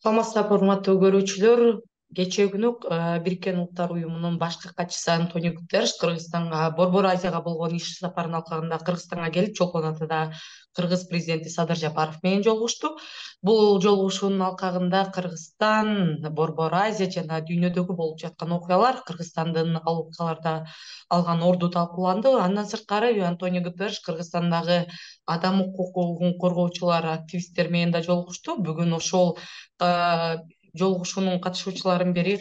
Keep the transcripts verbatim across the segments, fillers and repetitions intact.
Саламатсыздарбы, урматтуу көрүүчүлөр. Кечээ күнү Бириккен Улуттар Уюмунун башкы катчысы Антонио Гутерриш Кыргызстанга, Борбор Азияга болгон иш сапарынын алкагында Кыргызстанга келип, Чолпон Атада Кыргыз президенти Садыр Жапаров менен жолугушту. Бул жолугушуунун алкагында Кыргызстан, Борбор Азия жана дүйнөдөгү болуп жаткан окуялар, Кыргызстандын ал окуяларда алган орду талкууланды. Андан сырткары Антонио Гутерриш Кыргызстандагы адам укугун коргоочулар, активисттер менен да жолугушту. Бүгүн ошол жолугушуунун катышуучуларынын бири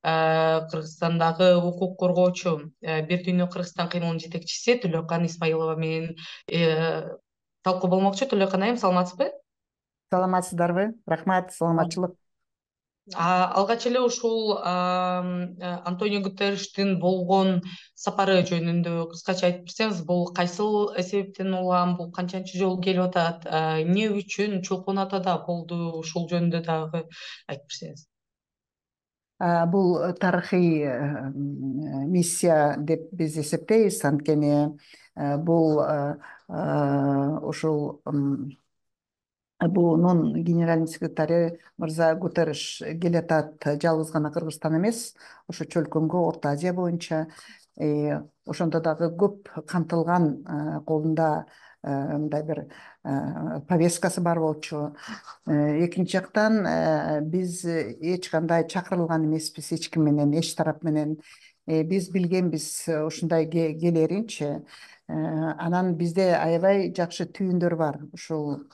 Кыргызстандагы укук коргоочу Бир дүйнө Кыргызстан кыймылынын жетекчиси Төлөкан Исмаилова менен талкуу болмокчу. Төлөкан айым, саламатсызбы? Саламатсыздарбы? Рахмат, саламатчылык. Алгач эле ушул Антонио Гутерриштин болгон сапары жөнүндө кыскача айтып берсеңиз, бул кайсыл себептен улам, бул канчанчы жолу келип атат, эмне үчүн Чолпон Атада болду, ушул жөнүндө дагы айтып берсеңиз. Бул тарыхый миссия деп биз эсептейбиз, анткени бул ушул бунун генеральный секретары мырза Гутерриш келатат жалгыз гана Кыргызстан эмес, ошо чөлкөнгө, Орто Азия боюнча. Ошондо дагы көп камтылган, колунда мындай бир повесткасы бар болчу. Экинчи жактан биз эч кандай чакырылган эмеспиз эч ким менен, эч тарап менен. Биз билгенбиз ушундай келеринчи. Анан бизде аябай жакшы түйүндөр бар. Ушул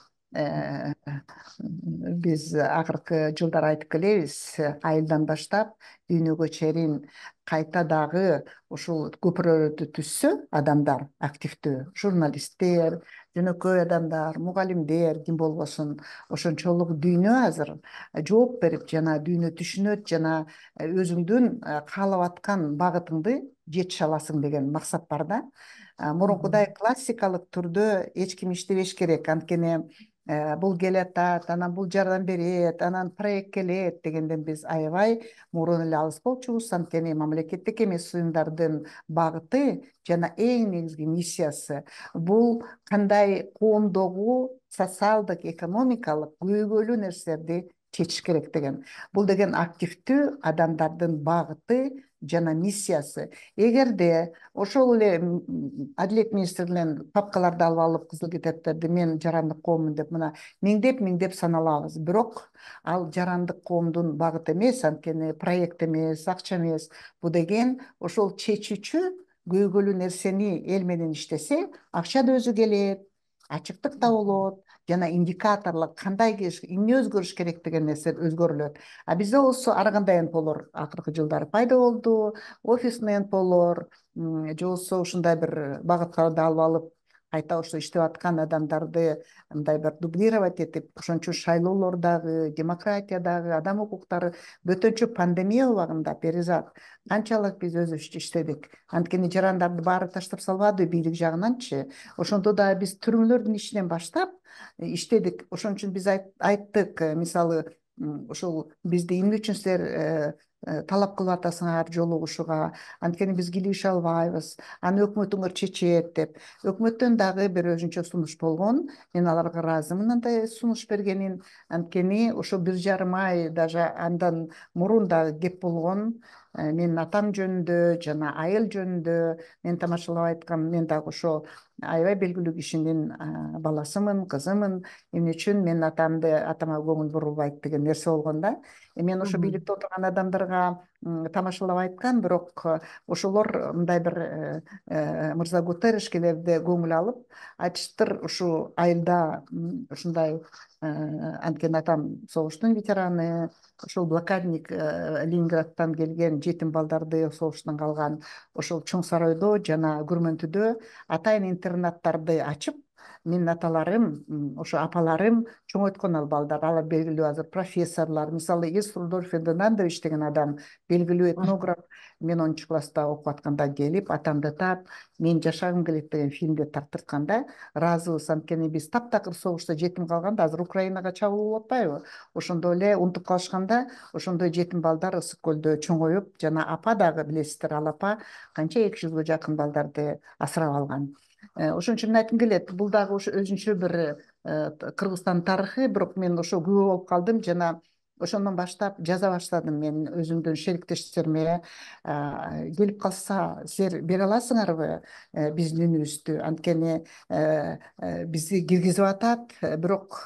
биз акыркы жылдары айтып келебиз, айылдан баштап дүйнөгө чейин кайта дагы ушул көпүрөлөрдү түзсө адамдар, активдүү журналисттер, жөнөкөй адамдар, мугалимдер, ким болбосун, ошончолук дүйнө азыр жооп берип, жана дүйнө түшүнөт, жана өзүңдүн каалап аткан багытыңды жетише аласың деген максат бар да. Мурункудай классикалык түрдө эч ким иштебеш керек, анткени бул келатат, анан бул жардам берет, анан проект келет дегенден биз аябай мурун эле алыс болчубуз. Анткени мамлекеттик эмес уюмдардын багыты жана эң негизги миссиясы бул кандай коомдогу социалдык, экономикалык көйгөйлүү нерселерди чечиш керек деген. Бул деген активдүү адамдардын багыты жана миссиясы. Эгерде ошол эле Адилет министрлигинен папкаларды алып алып, кызыл китептерди мен жарандык кооммун деп мына миңдеп миңдеп саналабыз, бирок ал жарандык коомдун багыты эмес, анткени проект эмес, акча эмес. Бул деген ошол чечүүчү көйгөйлүү нерсени эл менен иштесе, акча да өзү келет, ачыктык да болот, жана индикаторлор кандай эмне өзгөрүш керек деген нерсе өзгөрүлөт. А бизде болсо ар кандай эн пэ олор акыркы жылдары пайда болду, офисный эн пэ олор, же болбосо ушундай бир багыттарды алып алып, кайта ошо иштеп аткан адамдарды мындай бир дублировать этип, ошон үчүн шайлоолор дагы, демократия дагы, адам укуктары, бөтөнчө пандемия убагында перезат канчалык биз өзүбүзчө иштедик. Анткени жарандарды баары таштап салбады бийлик жагынанчы. Ошондо да биз түрмөлөрдүн ичинен баштап иштедик. Ошон үчүн биз айттык, мисалы, ошол бизди эмне үчүн силер талап кылып атасыңар жолугушууга, анткени биз кийлигише албайбыз, аны өкмөтүңөр чечет деп. Өкмөттөн дагы бир өзүнчө сунуш болгон. Мен аларга ыраазымын андай сунуш бергенин. Анткени ошо бир жарым ай, даже андан мурун дагы кеп болгон. Менин атам жөнүндө жана айыл жөнүндө мен тамашалап айткам. Мен дагы ошо аябай белгилүү кишинин баласымын, кызымын. Эмне үчүн мен атамды атама көңүл бурулбайт деген нерсе болгон да. Мен ошо бийликте отурган адамдарга тамашалап айткам, бирок ошолор мындай бир мырза Гутерришкелерди көңүл алып айтыштыр, ушул айылда ушундай, анткени атам согуштун ветераны, ошол блокадник Ленинградтан келген жетим балдарды, согуштан калган, ошол Чоң Сарайдо жана Күрмөнтүдө атайын интернаттарды ачып, менин аталарым, ошо апаларым чоңойткон ал балдарды. Алар белгилүү азыр профессорлор, мисалы Ис Рудольф Фердинандович деген адам, белгилүү этнограф, мен онунчу класста окуп атканда келип, атамды таап, мен жашагым келет деген фильмди тарттыртканда ыраазыбыз. Анткени биз таптакыр согушта жетим калганда, азыр Украинага чабуул болуп атпайбы? Ошондо эле унутуп калышканда, ошондой жетим балдар Ысык көлдө чоңоюп, жана апа дагы билесиздер, ал апа канча эки жүзгө жакын балдарды асырап алган. Ошон үчүн айткым келет, бул дагы ошо өзүнчө бир Кыргызстан тарыхы, бирок мен ошо күбө болуп калдым, жана ошондон баштап жаза баштадым мен өзүмдүн шериктештериме. Келип калса силер бере аласыңарбы биздин үнүбүздү, анткени бизди киргизип атат, бирок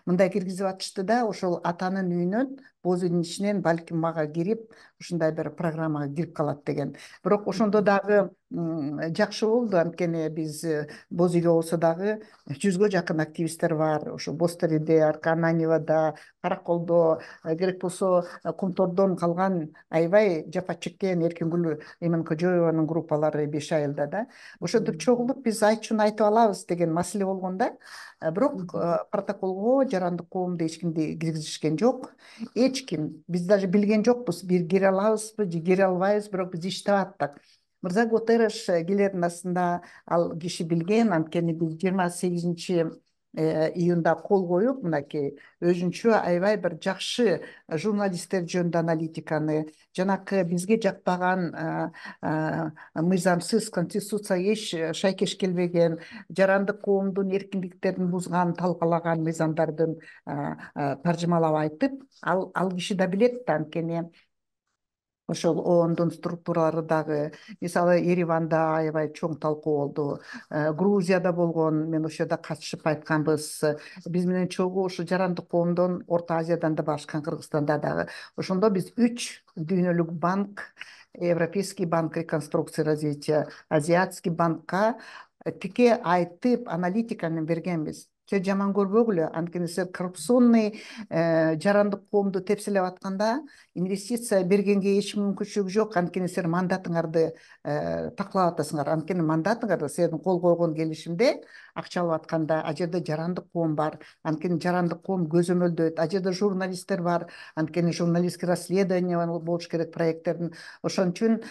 мындай киргизип атышты да, ошол атанын үйүнөн, боз үйдүн ичинен балким мага кирип, ушундай бир программага кирип калат деген. Бирок ошондо дагы жакшы болду, анткени биз боз үйдө болсо дагы жүзгө жакын активисттер бар. Ошо Боз Тереде, Ананьевада, Караколдо, керек болсо Кумтордон калган аябай жапа чеккен Эркингүл Иманкожоеванын группалары беш айылда да. Ошентип чогулуп биз айтчуну айтып алабыз деген маселе болгон да. Бирок протоколго жарандык коомду эч кимди киргизишкен жок. Эч ким, биз даже билген жокпуз, бир кире алабызбы же кире албайбыз, бирок биз иштеп аттык. Мырза Гутерреш келердин астында ал киши билген, анткени биз жыйырма сегизинчи июнда кол коюп, мынакей өзүнчө аябай бир жакшы журналисттер жөнүндө аналитиканы, жанакы бизге жакпаган мыйзамсыз конституцияга эч шайкеш келбеген, жарандык коомдун эркиндиктерин бузган, талкалаган мыйзамдардын таржымалап айтып, ал ал киши да билет да, анткени ошол оондун структуралары дагы, мисалы Ереванда аябай чоң талкуу болду, Грузияда болгон, мен ошол жерде катышып айтканбыз, биз менен чогуу ушу жарандык коомдон Орто Азиядан да барышкан, Кыргызстанда дагы. Ошондо биз үч дүйнөлүк банк, Европейский банк реконструкции и развития, Азиатский банкка тике айтып аналитиканы бергенбиз. Силер жаман көрбөгүлө, анткени силер коррупционный жарандык коомду тепселеп атканда инвестиция бергенге эч мүмкүнчүлүгү жок, анткени силер мандатыңарды таклап атасыңар. Анткени мандатыңарда силердин кол койгон келишимде акча алып атканда а жерде жарандык коом бар, анткени жарандык коом көзөмөлдөйт, а жерде журналисттер бар, анткени журналистский расследование болуш керек проекттердин. Ошон үчүн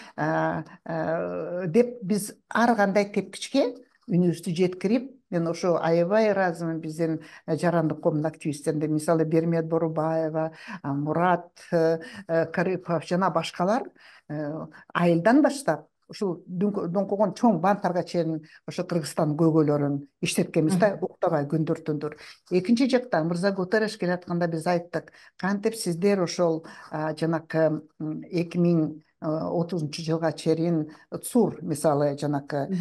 деп биз ар кандай тепкичке үнүбүздү жеткирип, мен ошо аябай ыраазымын биздин жарандык коомдун активисттерине. Мисалы Бермет Борубаева, Мурат Карипов жана башкалар айылдан баштап ушул доңкогон чоң банктарга чейин ошо Кыргызстандын көйгөйлөрүн иштеткенбиз да, уктабай күндөр түндөр. Экинчи жактан Мырза Гутерреш келатканда биз айттык, кантип сиздер ошол жанакы эки миң отузунчу жылга чейин ЦУР, мисалы жанакы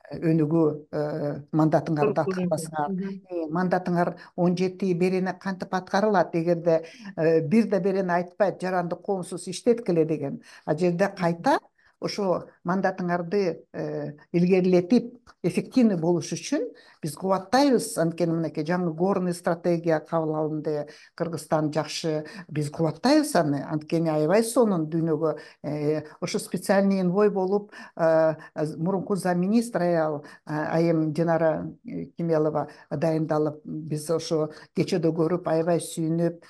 өнүгүү мандатыңарды аткарбасыңар, мандатыңар он жети берене кантип аткарылат, эгерде бир да берене айтпайт жарандык коомсуз иштеткиле деген, а жерде кайта ошо мандатыңарды илгерилетип эффективный болуш үчүн биз кубаттайбыз. Анткени мынакей жаңы горный стратегия кабыл алынды, Кыргызстан жакшы, биз кубаттайбыз аны, анткени аябай сонун дүйнөгө ошо специальный энвой болуп мурунку замминистр аял айым Динара Кемелова дайындалып, биз ошо кечээдө көрүп аябай сүйүнүп,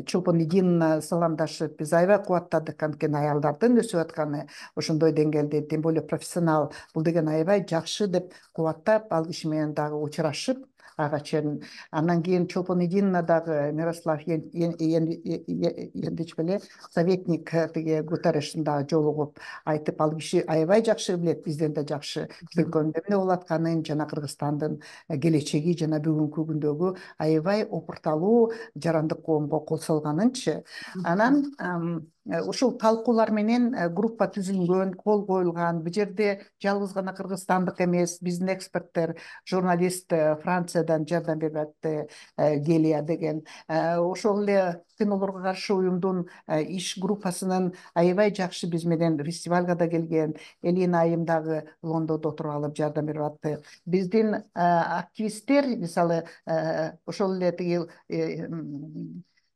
Чолпон Идиновна саламдашып, биз аябай кубаттадык, анткени аялдардын өсүп атканы ошондой деңгээлде, тем более профессионал, бул деген аябай жакшы деп кубаттап, ал киши менен дагы учурашып ага чейин. Андан кийин Чолпон Идиновна дагы Мирослав Ендич беле советник тиги Гутеррештин дагы жолугуп айтып, ал киши аябай жакшы билет, бизден да жакшы өлкөнүн эмне болуп атканын, жана Кыргызстандын келечеги жана бүгүнкү күндөгү аябай опурталуу жарандык коомго кол салганынчы. Анан ушул талкуулар менен группа түзүлгөн, кол коюлган. Бул жерде жалгыз гана кыргызстандык эмес, биздин эксперттер, журналист Франциядан жардам берип атты, Гелия деген. Ошол эле кинолорго каршы уюмдун иш группасынын аябай жакшы биз менен фестивалга да келген Элина айым дагы Лондондо отуруп алып жардам берип атты. Биздин активисттер, мисалы ошол эле тиги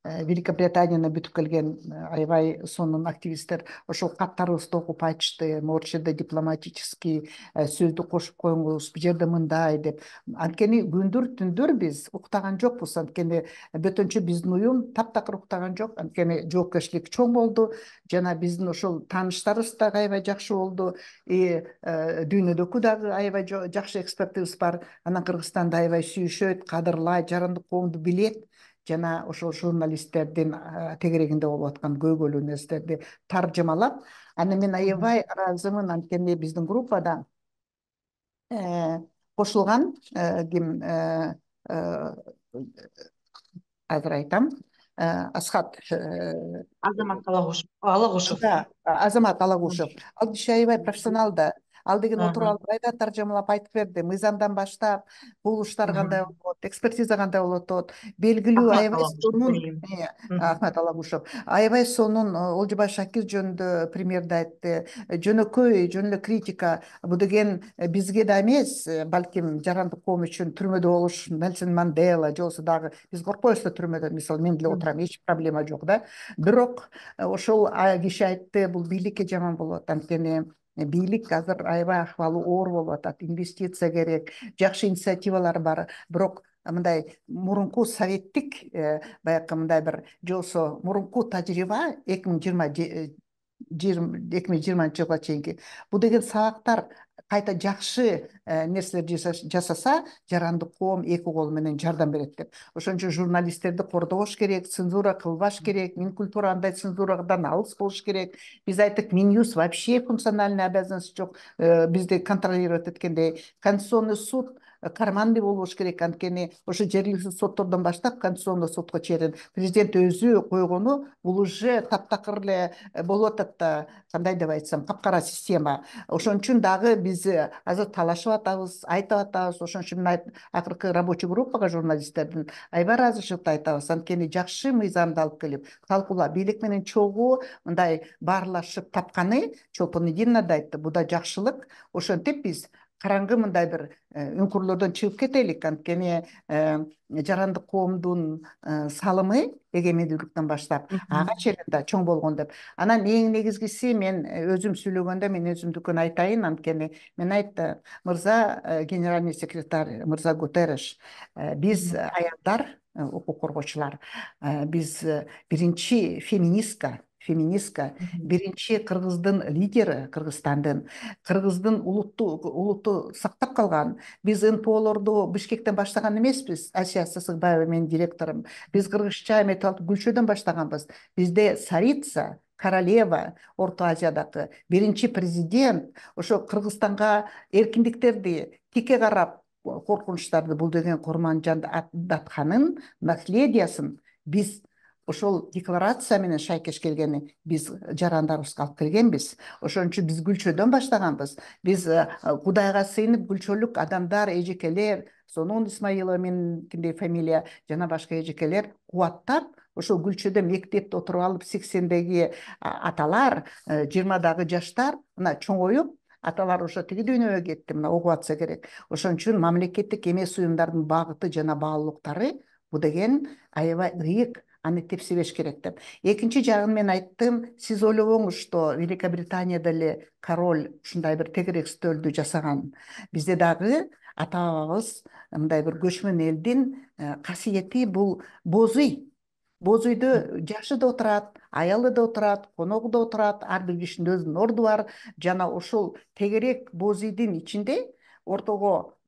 Великобританияны бүтүп келген аябай сонун активисттер ошол каттарыбызды окуп айтышты, могу жерде дипломатический сөздү кошуп коюңуз, бул жерде мындай деп. Анткени күндөр түндөр биз уктаган жокпуз, анткени бөтөнчө биздин уюм таптакыр уктаган жок, анткени жоопкерчилик чоң болду, жана биздин ошол тааныштарыбыз дагы аябай жакшы болду, и дүйнөдөгү дагы аябай жакшы экспертибиз бар. Анан Кыргызстанды аябай сүйүшөт, кадырлайт, жарандык коомду билет, жана ошол журналисттердин тегерегинде болуп аткан көйгөйлүү нерселерди таржымалап, аны мен аябай ыраазымын, анткени биздин группада кошулган ким азыр айтам. Асхат Азамат Алагушев. Алагушев. да, Азамат Алагушев. Ал киши аябай профессионал да. Ал деген отуруп алып айда таржамалап айтып берди. Мыйзамдан баштап булуштар кандай болот, экспертиза кандай болот атат, белгилүү Ахмат аябай Алагушев сонун билейм. Ахмат Алагушев аябай сонун Олжобай Шакир жөнүндө примерди айтты. Жөнөкөй, жөн эле критика. Бул деген бизге да эмес, балким жарандык коом үчүн түрмөдө болуш, Нельсон Мандела же болбосо дагы биз коркпойбуз да түрмөдө. Мисалы мен деле отурам, эч проблема жок да. Бирок ошол киши айтты, бул бийликке жаман болот. Анткени бийлик азыр аябай акыбалы оор болуп атат. Инвестиция керек, жакшы инициативалар бар. Бирок мындай мурунку советтик баягы мындай бир же болбосо мурунку тажрыйба эки миң жыйырма эки миң жыйырманчы жылга чейинки бул деген сабактар кайта жакшы нерселер жасаса жарандык коом эки кол менен жардам берет деп. Ошон үчүн журналисттерди кордобош керек, цензура кылбаш керек, Минкультура андай цензурадан алыс болуш керек. Биз айттык, Минюс вообще функциональный обязанность жок, бизди контролировать эткендей. Конституционный суд карманный болуш керек, анткени ошо жергиликтүү соттордон баштап Конституционный судко чейин президент өзү койгону бул уже таптакыр эле болуп атат да, кандай деп айтсам, капкара система. Ошон үчүн дагы биз азыр талашып атабыз, айтып атабыз. Ошон үчүн акыркы рабочий группага журналисттердин аябай ыраазычылыкты айтабыз. Анткени жакшы мыйзамды алып келип, талкуулап, бийлик менен чогуу мындай баарлашып тапканы Чолпон Идинна да айтты, бул да жакшылык. Ошентип биз караңгы мындай бир үңкүрлөрдөн чыгып кетелик, анткени жарандык коомдун салымы эгемендүүлүктөн баштап ага чейин да чоң болгон деп. Анан эң негизгиси, мен өзүм сүйлөгөндө мен өзүмдүкүн айтайын, анткени мен айттым, мырза генеральный секретарь мырза Гутерреш, биз аялдар, укук коргоочулар, биз биринчи феминистка феминистка биринчи кыргыздын лидери, Кыргызстандын кыргыздын улутту улутту сактап калган. Биз эн пэ олорду Бишкектен баштаган эмеспиз. Асия Сасыкбаева менин директорум. Биз кыргызча эметип алып Гүлчөдөн баштаганбыз. Бизде царица, королева, Орто Азиядагы биринчи президент ошо Кыргызстанга эркиндиктерди тике карап, коркунучтарды, бул деген Курманжан Датканын наследиясын биз ошол декларация менен шайкеш келгени биз жарандарыбызга алып келгенбиз. Ошон үчүн биз Гүлчөдөн баштаганбыз. Биз Кудайга сыйынып Гүлчөлүк адамдар, эжекелер, Сонун Исмаилова меникиндей фамилия жана башка эжекелер кубаттап, ошол Гүлчөдө мектепте отуруп алып, сексендеги аталар, жыйырмадагы жаштар мына чоңоюп, аталар ошо тиги дүйнөгө кетти, мына окуп атса керек. Ошон үчүн мамлекеттик эмес уюмдардын багыты жана баалуулуктары бул деген аябай ыйык, аны тепсебеш керек деп. Экинчи жагын мен айттым, сиз ойлобоңуз, что Великобританияда эле король ушундай бир тегерек стөлдү жасаган. Бизде дагы ата-бабабыз мындай бир көчмөн элдин касиети бул боз үй. Боз үйдө жашы да отурат, аялы да отурат, коногу да отурат, ар бир кишинин өзүнүн орду бар. Жана ошол тегерек боз үйдүн ичинде ортого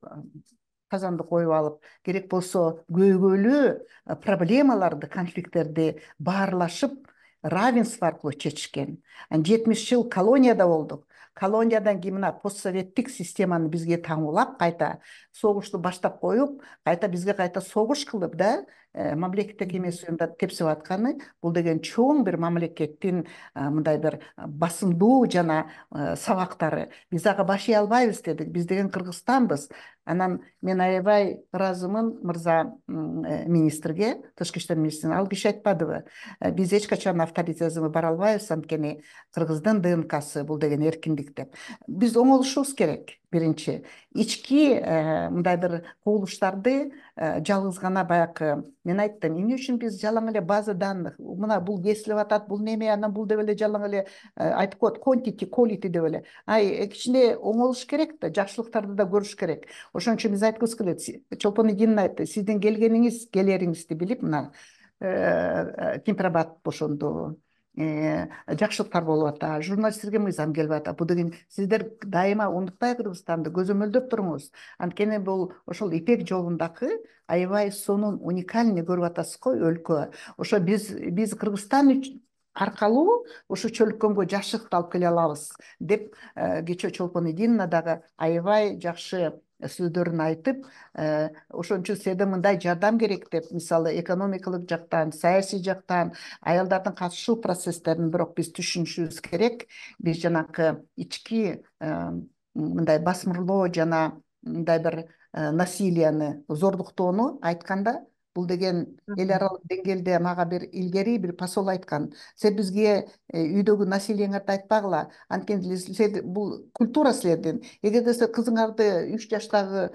казанды коюп алып, керек болсо көйгөйлүү проблемаларды, конфликттерди баарлашып, равенство аркылуу чечишкен. жетимиш жыл колонияда болдук. Колониядан кийин мына постсоветтик системаны бизге таңуулап, кайта согушту баштап коюп, кайта бизге кайта согуш кылып да, мамлекеттик эмес уюмдарды тепсип атканы, бул деген чоң бир мамлекеттин мындай бир басымдуу жана сабактары. Биз ага башый албайбыз дедик. Биз деген Кыргызстанбыз. Анан мен аябай ыраазымын мырза министрге, тышкы иштер министрине. Ал киши айтпадыбы, биз эч качан авторитаризмге бара албайбыз, анткени Кыргыздын ДНКсы бул деген эркиндик деп. Биз оңолушубуз керек. Биринчи, ички мындай бир кубулуштарды жалгыз гана баягы мен айттым, эмне үчүн биз жалаң эле база данных, мына бул кесилип атат, бул неме, анан бул деп эле жалаң эле айтып коет, quantity, quality деп эле. Ай, кичине оңолуш керек да, жакшылыктарды да көрүш керек. Ошон үчүн биз айткыбыз келет. Чолпон Идинна айтты, сиздин келгениңиз, келериңизди билип, мына темпирабат ошондо жакшылыктар болуп атат, журналисттерге мыйзам келип атат. Бул деген сиздер дайыма унутпай Кыргызстанды көзөмөлдөп туруңуз. Анткени бул ошол Ипек жолундагы аябай сонун уникальный көрүп атасыз го өлкө. Ошо биз биз Кыргызстан аркылуу ошо чөлкөмгө жакшылыкты алып келе алабыз деп кечээ Чолпон Идинна дагы аябай жакшы сөздөрүн айтып, ошон үчүн сизде мындай жардам керек деп, мисалы экономикалык жактан, саясий жактан аялдардын катышуу процесстерин бирок биз түшүнүшүбүз керек. Биз жанакы ички мындай басмырлоо жана мындай бир насилияны, зордуктоону айтканда, бул деген эл аралык деңгээлде мага бир илгери бир посол айткан: сен бизге үйдөгү насилияңарды айтпагыла, анткени бул культура силердин. Эгерде силер кызыңарды үч жаштагы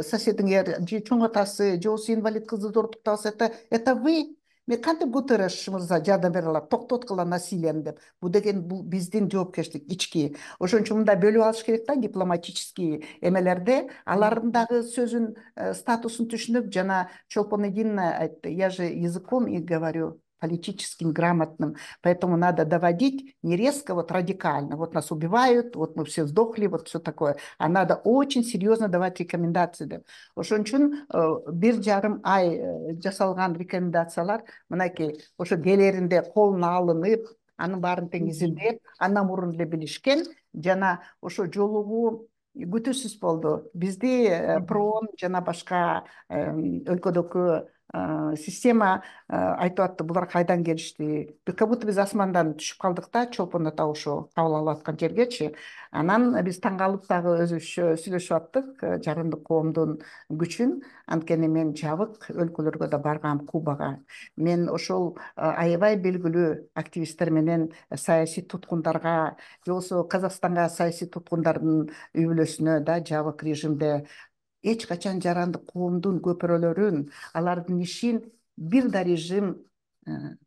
соседиңер же чоң атасы же болбосо инвалид кызды зордуктап атса, это вы. Мен кантип Гутерреш мырза жардам бере алам, токтоткула насилияны деп. Бул деген бул биздин жоопкерчилик ички. Ошон үчүн мындай бөлүп алыш керек да, дипломатический эмелерде алардын дагы сөзүн, статусун түшүнүп, жана Чолпон Эдина айтты: я же языком и говорю политическим, грамотным, поэтому надо доводить не резко, вот радикально, вот нас убивают, вот мы все сдохли, вот все такое, а надо очень серьезно давать рекомендации деп. Ошон үчүн бир жарым ай жасалган рекомендациялар мынакей ошо келеринде колуна алынып, анын баарын тең изилдеп, андан мурун эле билишкен, жана ошо жолугуу күтүүсүз болду. Бизди проон жана башка өлкөдөгү система айтып атты: булар кайдан келишти? Как будто биз асмандан түшүп калдык да, Чолпон ата ошо кабыл алып аткан жергечи. Анан биз таң калып дагы өзүбүзчө сүйлөшүп аттык жарандык коомдун күчүн. Анткени мен жабык өлкөлөргө да баргам, Кубага. Мен ошол аябай белгилүү активисттер менен саясий туткундарга, же болбосо Казакстанга саясий туткундардын үй бүлөсүнө да жабык режимде эч качан жарандык коомдун көпүрөлөрүн, алардын ишин бир да режим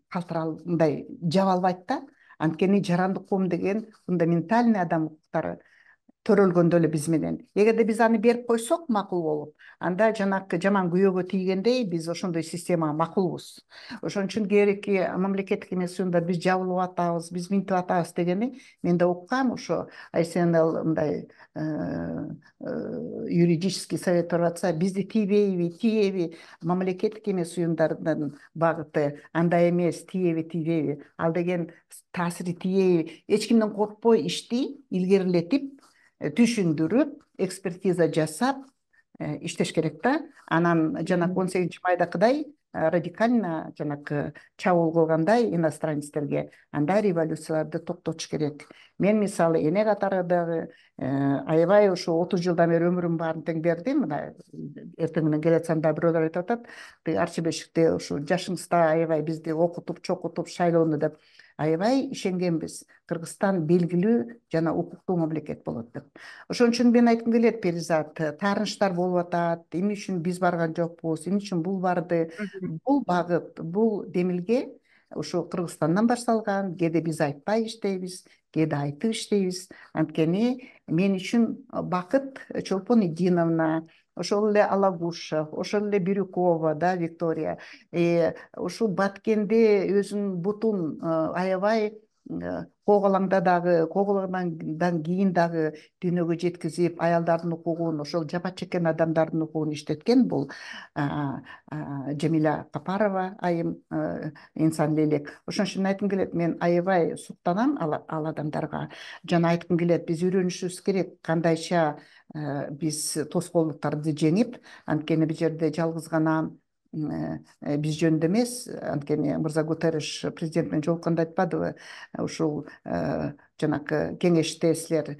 калтыра мындай жаба албайт да. Анткени жарандык коом деген фундаментальный адам укуктары төрөлгөндө эле биз менен. Эгерде биз аны берип койсок макул болуп, анда жанакы жаман күйөөгө тийгендей биз ошондой системага макулбуз. Ошон үчүн кээинки мамлекеттик эмес уюмдар биз жабылып атабыз, биз минтип атабыз дегени мен да уккам. Ошо ай си эн эл мындай юридический совет берип атса, бизди тийбейби, тиеби, мамлекеттик эмес уюмдардын багыты андай эмес, тиеби, тийбейби, ал деген таасири тиеби, эч кимден коркпой ишти илгерилетип, түшүндүрүп, экспертиза жасап иштеш керек да. Анан жанагы он сегизинчи майдакыдай радикально жанакы чабуул кылгандай иностранецтерге андай революцияларды токтотуш керек. Мен мисалы эне катары дагы аябай ошо отуз жылдан бери өмүрүмдүн баарын тең бердим. Мына эртең менен келатсам да бирөөлөр айтып атат: Арчы Бешикте ушу жашыңызда аябай бизди окутуп, чокутуп, шайлоону деп. Аябай ишенгенбиз. Кыргызстан белгилүү жана укуктуу мамлекет болот деп. Ошон үчүн мен айткым келет, Перизат, таарынычтар болуп атат. Эмне үчүн биз барган жокпуз? Эмне үчүн бул барды? Бул багыт, бул демилге ушу Кыргызстандан башталган. Кээде биз айтпай иштейбиз, кээде айтып иштейбиз. Анткени мен үчүн бакыт Чолпон Эдиновна, ошол эле Алагушев, ошол эле Бирюкова, да, Виктория, ушул Баткенде өзүнүн бутун аябай Коголаңда дагы, Коголаңдан кийин дагы дүйнөгө жеткизип, аялдардын укугун, ошол жапа чеккен адамдардын укугун иштеткен бул Жамиля Капарова айым, инсан лелек. Ошон үчүн айткым келет, мен аябай суктанам ал адамдарга. Жана айткым келет, биз үйрөнүшүбүз керек кандайча биз тоскоолдуктарды жеңип. Анткени бул жерде жалгыз гана биз жөнүндө эмес, анткени мырза Гутерреш президент менен жолукканда айтпадыбы, ушул жанакы кеңеште силер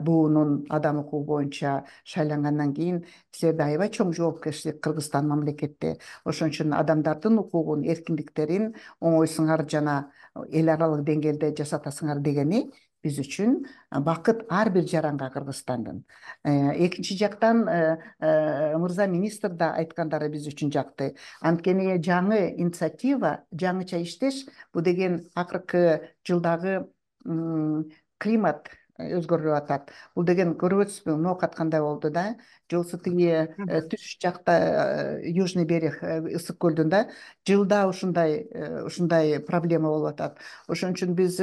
буунун адам укугу боюнча шайлангандан кийин силерде аябай чоң жоопкерчилик Кыргызстан мамлекетте. Ошон үчүн адамдардын укугун, эркиндиктерин оңойсуңар жана эл аралык деңгээлде жасатасыңар дегени биз үчүн бакыт ар бир жаранга Кыргызстандын. Экинчи жактан мырза министр да айткандары биз үчүн жакты. Анткени жаңы инициатива, жаңыча иштеш, бул деген акыркы жылдагы климат өзгөрүп атат. Бул деген көрүп өтсүзбү, ноокат кандай болду да? Же болбосо тиги түш жакта Южный берег ысык көлдүн да жылда ушундай ушундай проблема болуп атат. Ошон үчүн биз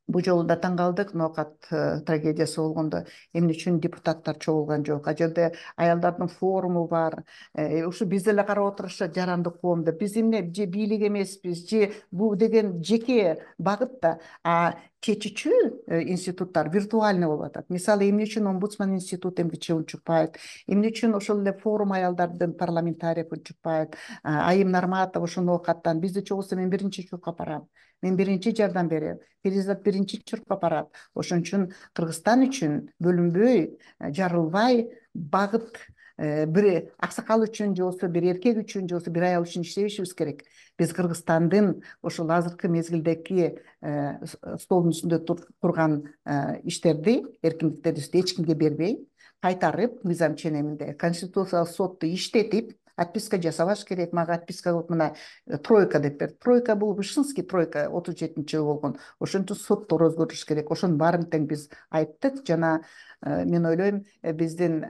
бул жолу да таң калдык, ноокат трагедиясы болгондо эмне үчүн депутаттар чогулган жок? А жерде аялдардын форуму бар. Ушу биз эле карап отурушат, жарандык коом деп. Биз эмне же бийлик эмеспиз, же бул деген жеке багыт да. А чечүүчү институттар виртуальный болуп атат. Мисалы, эмне үчүн омбудсман институту эмгиче унчукпайт, эмне үчүн ошол эле форум аялдардын парламентариев унчукпайт, Айым Нарматов ошону окаттан бизди чогулса мен биринчи чуркап барам, мен биринчи жардам берем, Перизат биринчи чуркап барат. Ошон үчүн Кыргызстан үчүн бөлүнбөй, жарылбай, багыт бир аксакал үчүн же болбосо бир эркек үчүн же болбосо бир аял үчүн иштебешибиз керек. Биз Кыргызстандын ошол азыркы мезгилдеги столдун үстүндө турган иштерди, эркиндиктерди эч кимге бербей, кайтарып, мыйзам ченеминде Конституциялык сотто иштетип, отписка жасабаш керек. Мага отписка кылып мына тройка деп берди. Тройка бул Вышинский тройка отуз жетинчи жылы болгон. Ошон үчүн соттор өзгөрүш керек. Ошонун баарын тең биз айттык. Жана мен ойлойм, биздин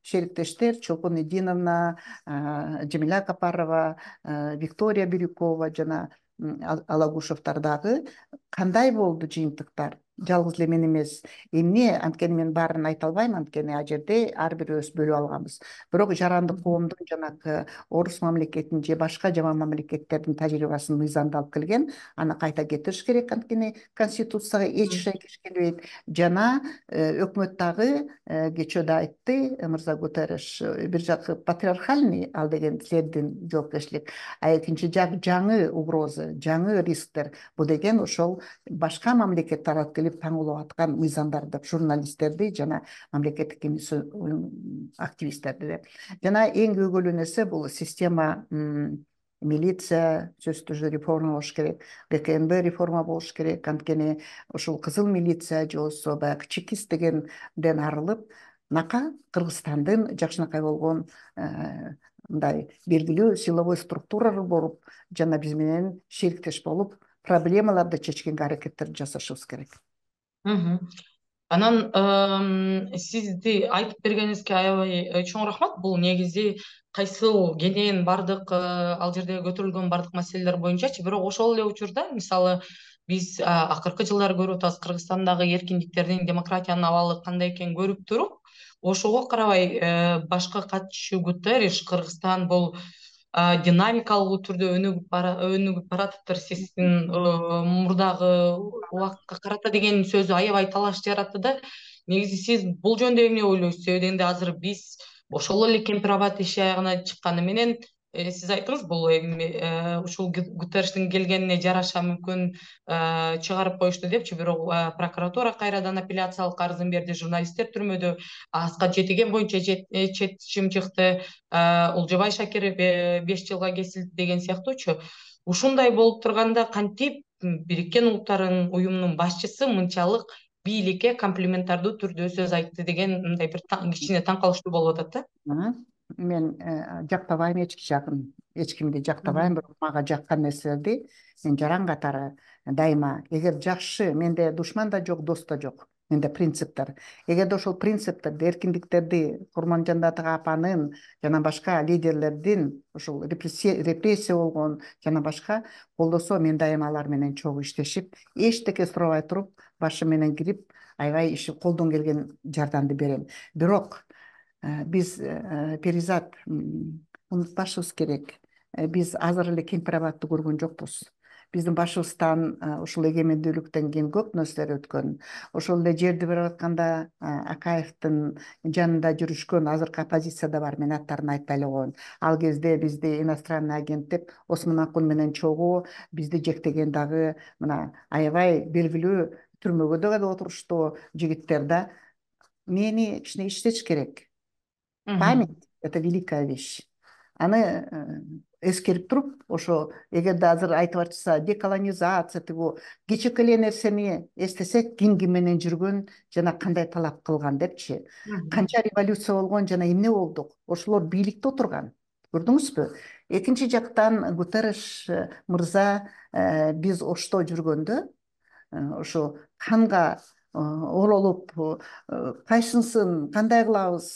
шериктештер Чолпон Эдиновна, Жамиля Капарова, Виктория Бирюкова жана Алагушевдер дагы кандай болду жыйынтыктар? Жалгыз эле мен эмес. Эмне, анткени мен баарын айта албайм, анткени ал жерде ар бирибиз бөлүп алганбыз. Бирок жарандык коомдун жанагы орус мамлекетинин же башка жаман мамлекеттердин тажрыйбасын мыйзамды алып келген, аны кайта кетириш керек, анткени Конституцияга эч шайкеш келбейт. Жана өкмөт дагы кечөө да айтты мырза Гутерриш, бир жакы патриархальный ал деген силердин жоопкерчилик, а экинчи жак жаңы угроза, жаңы рисктер. Бул деген ошол башка мамлекет тарап келип таңулап аткан мыйзамдар деп, журналисттерди жана мамлекеттик активисттерди деп. Жана эң көйгөйлүү нерсе бул система, милиция сөзсүз түрдө реформа болуш керек, ГКМБ реформа болуш керек, анткени ушул кызыл милиция же болбосо баягы чекист дегенден арылып, нака Кыргызстандын жакшынакай болгон мындай белгилүү силовой структуралар болуп, жана биз менен шериктеш болуп, проблемаларды чечкенге аракеттерди жасашыбыз керек. Анан сизди айтып бергениңизге аябай чоң рахмат. Бул негизи кайсыл кенен бардык ал жерде көтөрүлгөн бардык маселелер боюнчачы. Бирок ошол эле учурда мисалы биз акыркы жылдары көрүп атабыз Кыргызстандагы эркиндиктердин, демократиянын абалы кандай экенин көрүп туруп, ошого карабай башкы катчуу Гутерриш Кыргызстан бул динамикалуу түрдө өнүгүп баратыптыр, сиздин мурдагы убакытка карата деген сөзү аябай талаш жаратты да. Негизи сиз бул жөнүндө эмне ойлойсуз? Себеби энди азыр биз ошол эле кемпир абад иши аягына чыкканы менен сиз айттыңыз, бул ушул Гутерриштин келгенине жараша мүмкүн чыгарып коюшту депчи, бирок прокуратура кайрадан апелляциялык арызын берди, журналисттер түрмөдө, Аскат Жетиген боюнча чечим чыкты, Улжабай Шакир беш жылга кесилди деген сыяктуучу. Ушундай болуп турганда кантип Бириккен Улуттар уюмунун башчысы мынчалык бийликке комплиментардуу түрдө сөз айтты деген мындай бир кичине таң калыштуу болуп атат да. Мен жактабайм эч жагын, эч кимди жактабайм, бирок мага жаккан нерселерди мен жаран катары дайыма, эгер жакшы, менде душман да жок, дос да жок. Менде принциптер. Эгерде ошол принциптерди, эркиндиктерди Курманжан Ата апанын жана башка лидерлердин ошол репрессия болгон жана башка колдосо, мен дайыма алар менен чогуу иштешип, эчтеке сурабай туруп, башы менен кирип, аябай иши колдон келген жардамды берем. Бирок биз Перизат унутпашыбыз керек. Биз азыр эле кемпир абадты көргөн жокпуз. Биздин башыбыздан ушул эгемендүүлүктөн кийин көп нерселер өткөн. Ошол эле жерди берип атканда Акаевдин жанында жүрүшкөн азыркы оппозицияда бар, мен аттарын айтпай эле коеюн. Ал кезде бизди иностранный агент деп Осмон Акун менен чогуу бизди жектеген дагы мына аябай белгилүү түрмөгө да отуруштуу жигиттер да. Мени кичине иштетиш керек. Память — это великая вещь. Аны эскерип туруп, ошо эгерде азыр айтып атышса, деколонизация, тигу кичике эле нерсени эстесек, ким ким менен жүргөн жана кандай талап кылган депчи. Канча революция болгон жана эмне болдук? Ошолор бийликте отурган. Көрдүңүзбү? Экинчи жактан Гутерриш мырза биз Ошто жүргөндө, ошо канга оролуп, кайсынысын кандай кылабыз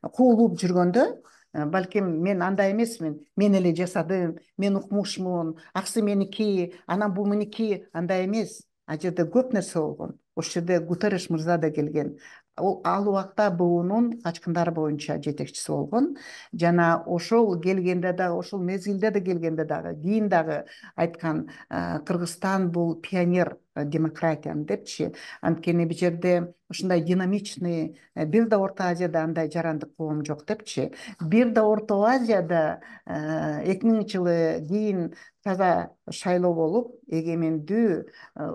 куулуп жүргөндө, балким мен андай эмесмин, мен эле жасадым, мен укмушмун, аксы меники, анан бул меники, андай эмес. А жерде көп нерсе болгон. Ошол жерде Гутерриш мырза да келген. Ол ал убакта буунун качкындар боюнча жетекчиси болгон. Жана ошол келгенде дагы, ошол мезгилде да келгенде дагы, кийин дагы айткан, Кыргызстан бул пионер демократияны депчи. Анткени бул жерде ушундай динамичный, бир да Орто Азияда андай жарандык коом жок депчи. Бир да Орто Азияда эки миңинчи жылы кийин таза шайлоо болуп, эгемендүү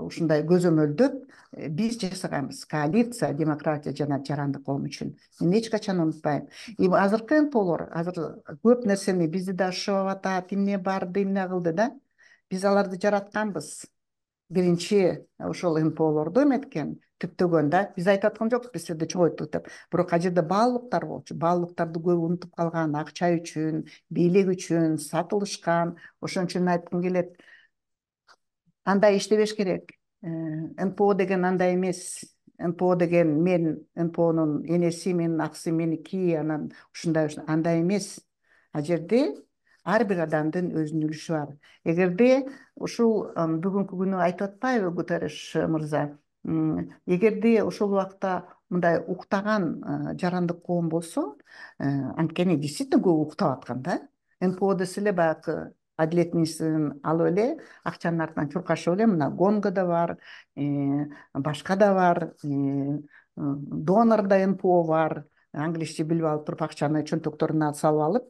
ушундай көзөмөлдөп биз жасаганбыз коалиция, демократия жана жарандык коом үчүн. Мен эч качан унутпайм. И азыркы эн пэ олор азыр көп нерсени бизди да шыбап атат, эмне барды, эмне кылды да. Биз аларды жаратканбыз. Биринчи ошол эн пэ олорду эметкен, түптөгөн да. Биз айтып аткан жокпуз, биз силерди чогойттук деп. Бирок ал жерде баалуулуктар болчу. Баалуулуктарды көбү унутуп калган, акча үчүн, бийлик үчүн сатылышкан. Ошон үчүн айткым келет, андай иштебеш керек. эн пэ о деген андай эмес. эн пэ о деген мен эн пэ онун энеси, менин аксы меники, анан ушундай андай эмес. Ал жерде ар бир адамдын өзүнүн үлүшү бар. Эгерде ушул бүгүнкү күнү айтып атпайбы Гутерриш мырза, эгерде ошол убакта мындай уктаган жарандык коом болсо, анткени действительно көп уктап аткан да. эн пэ о десе эле баягы Адилет министрин алып эле акчанын артынан чуркашып эле, мына Гонго да бар, башка да бар, донор да эн пэ о бар. Англисче билип алып туруп акчаны чөнтөктөрүнө салып алып,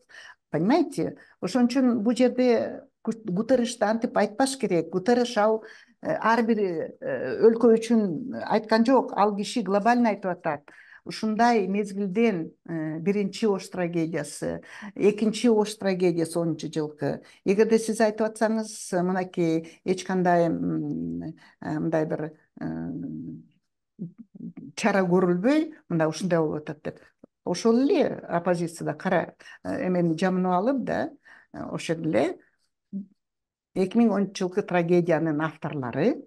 понимаете? Ошон үчүн бул жерде Гутерришти антип айтпаш керек. Гутерриш ал ар бир өлкө үчүн айткан жок, ал киши глобально айтып атат. Ушундай мезгилден биринчи Ош трагедиясы, экинчи Ош трагедиясы онунчу жылкы. Эгерде сиз айтып атсаңыз, мынакей эч кандай мындай бир чара көрүлбөй, мындай ушундай болуп атат деп. Ошол эле оппозицияда кара эмени жамынып алып да, ошол эле эки миң онунчу жылкы трагедиянын авторлору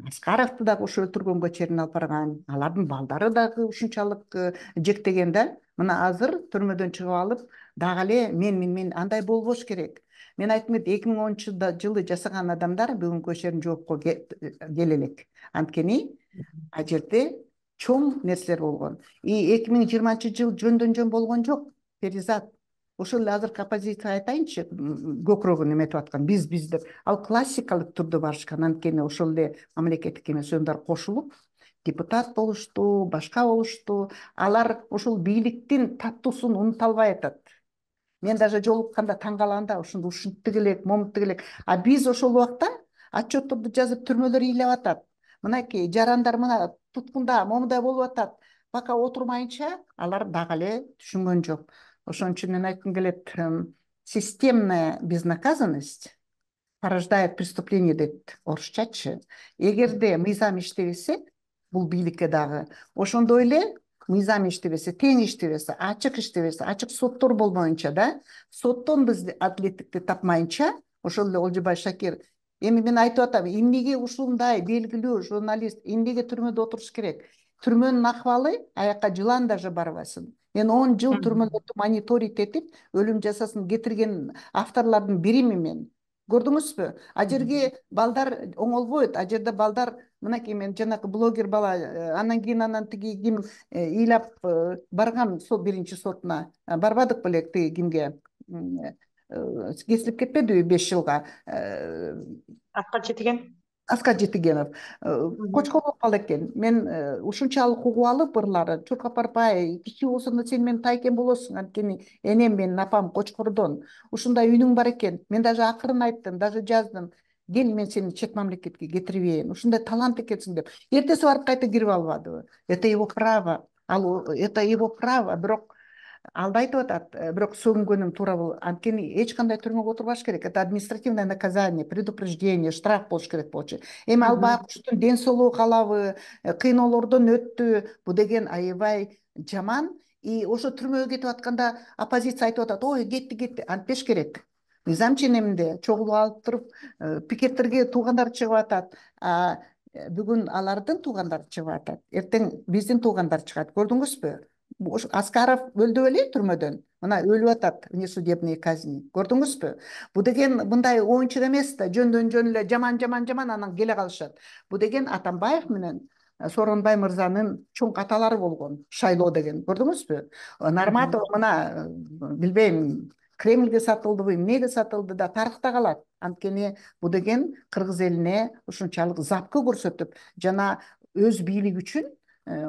Аскаровду дагы ушу өлтүргөнгө чейин алып барган, алардын балдары дагы ушунчалык жектеген да. Мына азыр түрмөдөн чыгып алып, дагы эле мен мен мен андай болбош керек. Мен айткым келет, эки миң онунчу жылы жасаган адамдар бүгүнкү иштерин жоопко келе элек. Анткени ал жерде чоң нерселер болгон. И эки миң жыйырманчы жыл жөндөн жөн болгон жок, Перизат. Ошол эле азыркы оппозиция айтайынчы, көкүрөгүн эметип аткан биз биз деп. Ал классикалык түрдө барышкан. Анткени ошол эле мамлекеттик эмес уюмдар кошулуп, депутат болушту, башка болушту. Алар ушул бийликтин таттуусун унута албай атат. Мен даже жолукканда таң калам да, ушунду ушинтип элек, момунтип элек. А биз ошол убакта отчетторду жазып түрмөлөр ыйлап атат. Мынакей жарандар мына туткунда, момундай болуп атат. Пока отурмайынча алар дагы эле түшүнгөн жок. Ошон үчүн мен айткым келет, системная безнаказанность порождает преступление дейт орусчачы. Эгерде мыйзам иштебесе, бул бийликке дагы, ошондой эле мыйзам иштебесе, тең иштебесе, ачык иштебесе, ачык соттор болмоюнча да, соттон биз адилеттикти тапмайынча, ошол эле Олжобай Шакир, эми мен айтып атам, эмнеге ушундай белгилүү журналист эмнеге түрмөдө отуруш керек? Түрмөнүн акыбалы аякка жылан даже барбасын. Мен он жыл түрмөлөрдү мониторить этип, өлүм жазасын кетирген авторлордун биримин мен. Көрдүңүзбү? А жерге балдар оңолбойт. А жерде балдар, мынакей мен жанакы блогер бала, анан кийин анан тиги ким ыйлап барган сол биринчи сотуна. Барбадык беле тиги кимге? Кесилип кетпедиби беш жылга? Аскар Жетиген. Аскар Жетигенов кочкор болуп калды экен. Мен ушунчалык угуп алып ырлары, чуркап барбай, кичи болсоң да сен менин тайкем болосуң, анткени энем менин апам кочкордон. Ушундай үнүң бар экен. Мен даже акырын айттым, даже жаздым. Кел, мен сени чет мамлекетке кетирип берейин. Ушундай талант экенсиң деп. Эртеси барып кайта кирип албадыбы? Это его право. Ал это его право, бирок ал да айтып атат, бирок сөгүнгөнүм туура болот. Анткени эч кандай түрмөгө отурбаш керек. Это административное наказание, предупреждение, штраф болуш керек болчу. Эми ал баягы куштун ден соолугу калабы, кыйноолордон өттү. Бу деген аябай жаман. И ошо түрмөгө кетип атканда оппозиция айтып атат, ой, кетти, кетти. Антпеш керек. Мыйзам ченеминде чогулуп алып туруп, пикеттерге туугандары чыгып атат. Бүгүн алардын туугандары чыгып атат. Эртең биздин туугандар чыгат. Көрдүңүзбү? Аскаров өлдү беле түрмөдөн. Мына өлүп атат, внесудебные казни. Көрдүңүзбү? Бу деген мындай оюнчук эмес да, жөндөн жөн эле жаман жаман жаман анан келе калышат. Бу деген Атамбаев менен Сооронбай мырзанын чоң каталары болгон. Шайлоо деген. Көрдүңүзбү? Нарматов мына билбейм, Кремльге сатылдыбы, эмнеге сатылды да тарыхта калат. Анткени бул деген кыргыз элине ушунчалык запкы көрсөтүп жана өз бийлиги үчүн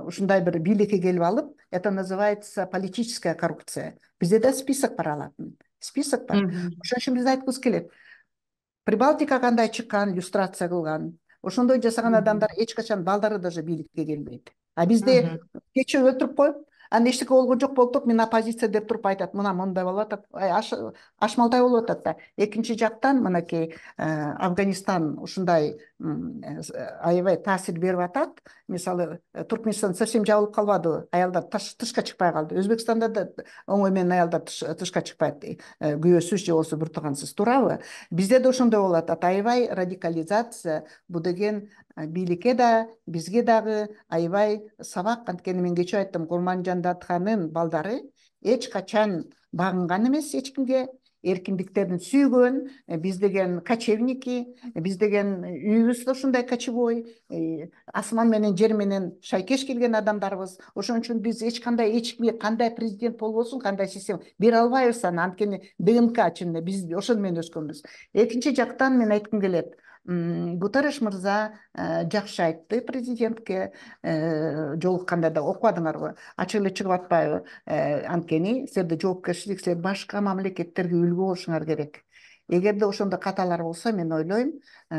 ушундай бир бийликке келип алып, это называется политическая коррупция. Бизде да список бар алатын. Список бар. Ошон үчүн биз айткыбыз келет. Прибалтика кандай чыккан, иллюстрация кылган. Ошондой жасаган адамдар эч качан балдары даже бийликке келбейт. А бизде кечээ өлтүрүп коюп, анда эчтеке болгон жок болуп туруп, мен оппозиция деп туруп айтат, мына мындай болуп атат, ашмалтай болуп атат да. Экинчи жактан мынакей Афганистан ушундай аябай таасир берип атат. Мисалы, Туркменистан совсем жабылып калбадыбы? Аялдар тышка чыкпай калды. Өзбекстанда да оңой менен аялдар тышка чыкпайт. Күйөөсүз же болбосо бир туугансыз, туурабы? Бизде да ошондой болуп атат. Аябай радикализация, бул деген бийликке да, бизге дагы аябай сабак. Анткени мен кечээ айттым, Курманжан Датханын балдары эч качан багынган эмес эч кимге, эркиндиктерин сүйгөн. Биз деген кочевники, биз деген үйүбүз да ушундай кочевой, асман менен жер менен шайкеш келген адамдарбыз. Ошон үчүн биз эч кандай эч кимге кандай президент болбосун, кандай система бере албайбыз аны. Анткени ДНК чынында биз ошону менен өскөнбүз. Экинчи жактан мен айткым келет. Гутерреш мырза жакшы айтты президентке, жолукканда да окубадыңарбы? Ачык эле чыгып атпайбы? Анткени силерде жоопкерчилик, силер башка мамлекеттерге үлгү болушуңар керек. Эгерде ошондой каталар болсо, мен ойлойм,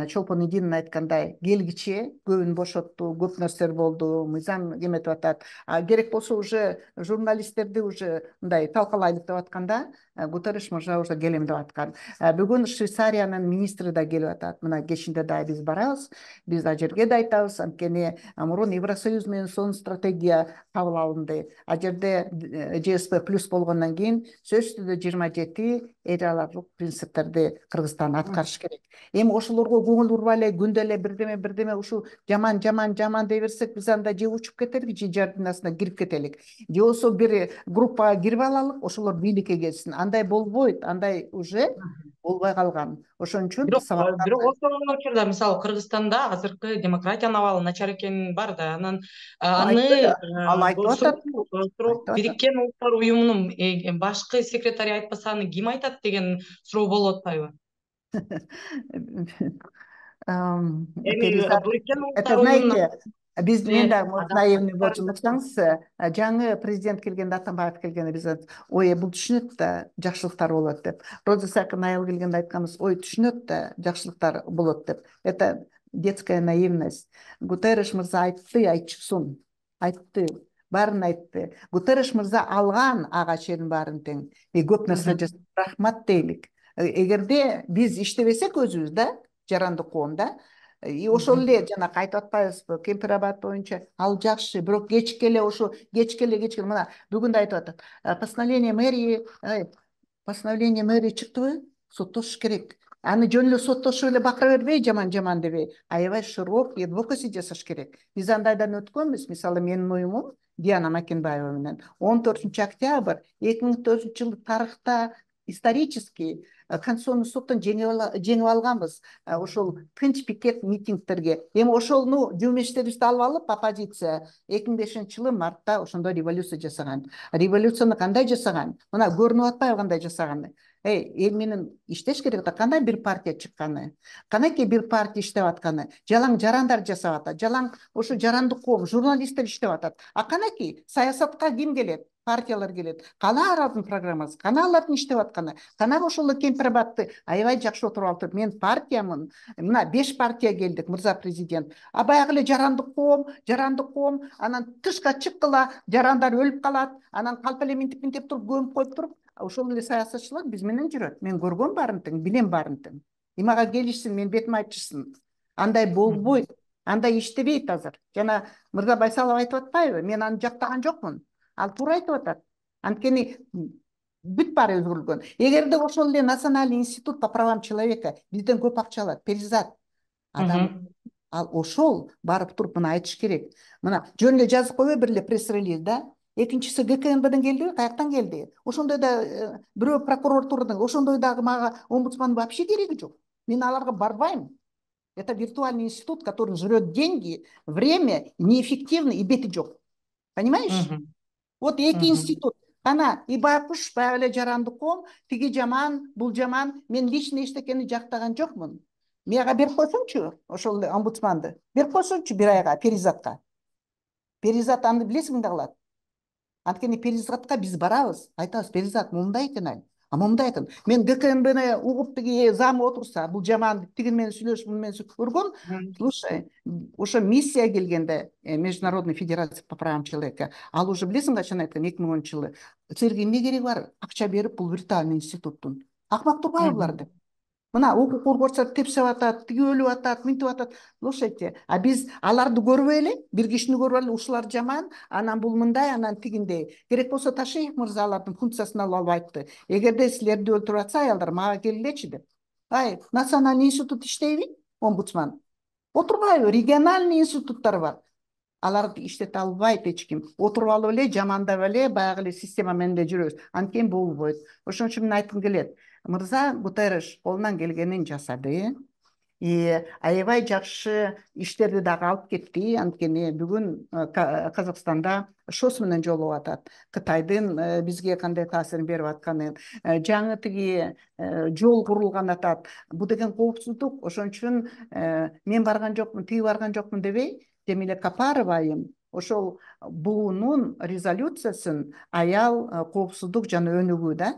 Чолпон Идинин айткандай, келгиче көбүн бошотту, көп нерселер болду, мыйзам эметип атат. А керек болсо уже журналисттерди уже мындай талкалайлык деп атканда, Гутерреш мырза уже келем деп аткан. Бүгүн Швейцариянын министри да келип атат. Мына кечинде да биз барабыз, биз ал жерге да айтабыз. Анткени мурун Евросоюз менен сонун стратегия кабыл алынды. А жерде Ж С П плюс болгондон кийин сөзсүз түрдө жыйырма жети эл аралык принциптерди Кыргызстан аткарыш керек. Эми ошолорго көңүл бурбай эле күндө эле бирдеме бирдеме ушул жаман жаман жаман дей берсек, биз анда же учуп кетелик, же жардын астына кирип кетелик. Же болбосо бир группага кирип алалык, ошолор бийликке келсин. Андай болбойт, андай уже болбой калган. Ошон үчүн бирок бирок ошол учурда мисалы Кыргызстанда азыркы демократиянын абалы начар экени бар да. Анан аны ал айтып атат. Бириккен Улуттар уюмунун башкы секретари айтпаса, аны ким айтат деген суроо болуп атпайбы? Это знаете, биз мен да наивный болчу уксаңыз, жаңы президент келгенде, Атамбаев келгенде биз ой бул түшүнөт да, жакшылыктар болот деп. Роза Сакин айыл келгенде айтканбыз, ой түшүнөт да, жакшылыктар болот деп. Это детская наивность. Гутерреш мырза айтты, айтчусун. Айтты, баарын айтты. Гутерреш мырза алган ага чейин баарын тең. Көп нерсе жасап рахмат дейлик. Эгерде биз иштебесек өзүбүз да, жарандык коом да, и ошол эле жана кайтып атпайбызбы, Кемпирабад боюнча ал жакшы, бирок кечке эле ошо кечке эле кечке мына бүгүн да айтып атат. Постановление мэрии, постановление мэрии чыктыбы? Соттош керек. Аны жөн эле соттошуп эле бакыра бербей, жаман-жаман дебей, аябай широкий адвокаси жасаш керек. Биз андайдан өткөнбүз. Мисалы, менин уюмум Диана Макенбаева менен он төртүнчү октябрь эки миң төртүнчү жылы тарыхта исторический Конституционный соттон жеңип алганбыз. Ошол тынч пикет митингтерге. Эми ошону жумештерибизди алып алып, оппозиция эки миң бешинчи жылы мартта ошондой революция жасаган. Революцияны кандай жасаган? Мына көрүнүп атпайбы кандай жасаганы? Эй, эл менен иштеш керек да, кандай бир партия чыкканы? Канакей бир партия иштеп атканы? Жалаң жарандар жасап атат. Жалаң ошо жарандык коом, журналисттер иштеп атат. А канакей саясатка ким келет? Партиялар келет. Кана алардын программасы, кана алардын иштеп атканы, кана ошол Кемпирабадты аябай жакшы отуруп алып, мен партиямын. Мына беш партия келдик, мырза президент. А баягы эле жарандык коом, жарандык коом, анан тышка чыккыла, жарандар өлүп калат, анан калп эле минтип минтип туруп, көмүп коюп туруп, ошол эле саясатчылар биз менен жүрөт. Мен көргөм баарын тең, билем баарын тең. Имага келишсин, мен бетиме айтышсын. Андай болбойт, андай иштебейт азыр. Жана мырза Байсалов айтып атпайбы? Мен аны жактаган жокмун. Ал туура айтып атат. Анткени бүт баары өзгөрүлгөн. Эгерде ошол эле Национальный институт по правам человека бизден көп акча алат, перизат. Адам ал ошол барып туруп мына айтыш керек. Мына жөн эле жазып койбой бир эле пресс-релиз да. Экинчиси Г К Н Бден келди, каяктан келди? Ошондой да бирөө прокуратурадан, ошондой дагы мага омбудсман вообще кереги жок. Мен аларга барбайм. Это виртуальный институт, который жрет деньги, время, неэффективный и бети жок. Понимаешь? Вот эки институт. Ана и байкуш баягы эле жарандык ком, тиги жаман, бул жаман, мен лично эчтекени жактаган жокмун. Мага берип койсоңчу, ошол омбудсманды. Берип койсоңчу бир айга Перизатка. Перизат аны билесиң эмне кылат? Анткени Перизатка биз барабыз, айтабыз, Перизат мындай экен ай. А мындай экен. Мен ГКМБны угуп тиги зам отурса, бул жаман, тигин менен сүйлөшүп, муну менен көргөн. Слушай, ошо миссия келгенде, Международный федерация по правам человека, ал уже билесиң качан айткан, эки миң онунчу жылы. Силерге эмне кереги бар? Акча берип бул виртуальный институттун. Акмак турбайбы булар деп. Мына укук коргоочулар тепсип атат, тиги өлүп атат, мынтип атат. Слушайте, а биз аларды көрбөй эле, бир кишини көрүп эле, ушулар жаман, анан бул мындай, анан тигиндей. Керек болсо Ташиев мырза алардын функциясын алып алып айтты. Эгерде силерди өлтүрүп атса аялдар, мага келгилечи деп. Ай, национальный институт иштейби? Омбудсман. Отурбайбы? Региональный институттар бар. Аларды иштете албайт эч ким. Отуруп алып эле, жамандап эле, баягы эле система менен эле жүрөбүз. Анткени болбойт. Ошон үчүн мен айткым келет. Мырза Гутерреш колунан келгенин жасады. И аябай жакшы иштерди дагы алып кетти. Анткени бүгүн Казакстанда ШОС менен жолугуп атат. Кытайдын бизге кандай таасирин берип атканын, жаңы тиги жол курулган атат. Бул деген коопсуздук. Ошон үчүн мен барган жокмун, тиги барган жокмун дебей, Жемиле Капарова айым ошол буунун резолюциясын аял коопсуздук жана өнүгүү да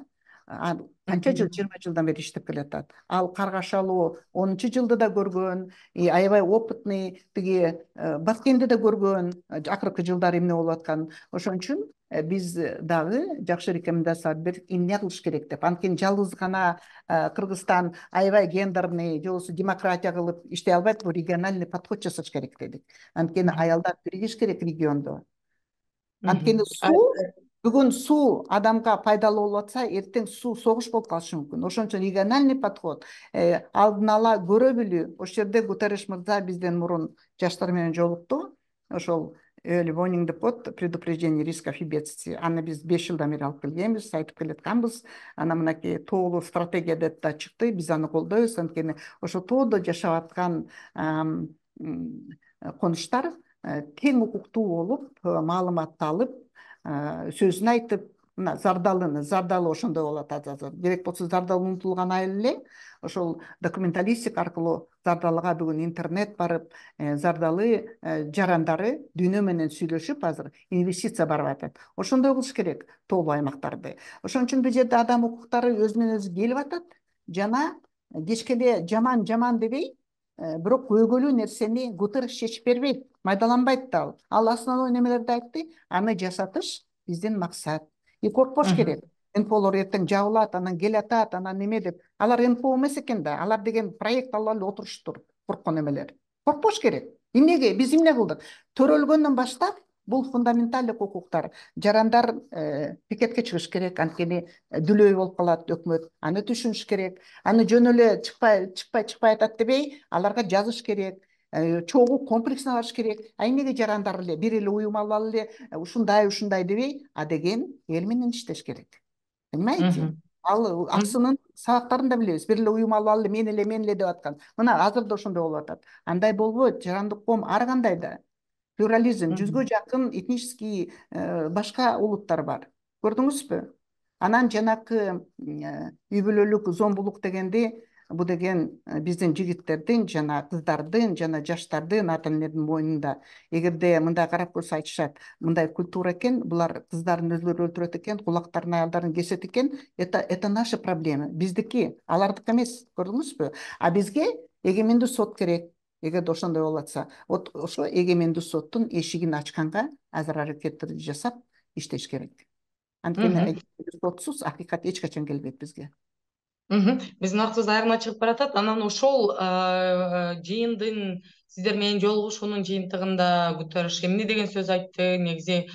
канча жыл, жыйырма жылдан бери иштеп келатат. Ал Каргашалуу онунчу жылды да көргөн, аябай опытный, тиги Баткенди да көргөн, акыркы жылдары эмне болуп атканын. Ошон үчүн биз дагы жакшы рекомендация берип, эмне кылыш керек деп. Анткени жалгыз гана Кыргызстан аябай гендерный, же болбосо демократия кылып иштей албайт, бул региональный подход жасаш керек дедик. Анткени аялдар биригиш керек региондо. Анткени суу Бүгүн суу адамга пайдалуу болуп атса, эртең суу согуш болуп калышы мүмкүн. Ошон үчүн региональный подход, алдын ала көрө билүү. Ошол жерде Гутерреш мырза бизден мурун жаштар менен жолукту. Ошол early warning report, предупреждение рисков и бедствий. Аны биз беш жылдан бери алып келгенбиз, айтып келатканбыз. Ана мынакей тоолуу стратегия деп да чыкты. Биз аны колдойбуз. Анткени ошо тоодо жашап аткан конуштар тең укуктуу болуп, маалыматты алып, сөзүн айтып, мына Зардалыны, Зардалы ошондой болуп атат азыр. Керек болсо Зардалы унутулган айыл эле, ошол документалистика аркылуу Зардалыга бүгүн интернет барып, Зардалы жарандары дүйнө менен сүйлөшүп, азыр инвестиция барып атат. Ошондой кылыш керек тоолуу аймактарды. Ошон үчүн бул жерде адам укуктары өзүнөн өзү келип атат, жана кечке жаман жаман дебей, бирок көйгөлүү нерсени Гутерреш чечип бербейт, майдаланбайт да ал. Ал основной немелерди айтты, аны жасатыш биздин максат. И коркпош керек. эн пэ олор эртең жабылат, анан кел атат, анан неме деп. Алар эн пэ о эмес экен да, алар деген проект алып эле отуруштур, корккон эмелер. Коркпош керек. Эмнеге? Биз эмне кылдык? Төрөлгөндөн баштап бул фундаменталдык укуктар. Жарандар пикетке чыгыш керек, анткени дүлөй болуп калат өкмөт. Аны түшүнүш керек. Аны жөн эле чыкпай, чыкпай, чыкпай атат дебей, аларга жазыш керек. Чогуу комплексно барыш керек. А эмнеге жарандар эле бир эле уюм алып эле ушундай, ушундай дебей, а деген эл менен иштеш керек. Понимаете? Ал аксынын сабактарын да билебиз. Бир эле уюм алып эле мен эле, мен эле деп аткан. Мына азыр да ошондой болуп атат. Андай болбойт. Жарандык ком ар кандай да. Плюрализм, жүзгө жакын этнический башка улуттар бар. Көрдүңүзбү? Анан жанакы үй бүлөлүк зомбулук дегенди, бул деген биздин жигиттердин жана кыздардын жана жаштардын ата энелердин мойнунда. Эгерде мындай карап көрсө айтышат, мындай культура экен, булар кыздарын өзүлөрү өлтүрөт экен, кулактарын, аялдарын кесет экен, это это наши проблемы. Биздики, алардык эмес. Көрдүңүзбү? А бизге эгемендүү сот керек. Эгерде ошондой болуп атса, ошо эгемендүү соттун эшигин ачканга азыр аракеттерди жасап иштеш керек. Анткени сотсуз акыйкат эч качан келбейт бизге. Биздин убактыбыз айырма чыгып баратат. Анан ошол жыйындын сиздер менен жолугушуунун жыйынтыгында Гутерреш эмне деген сөз айтты? Негизи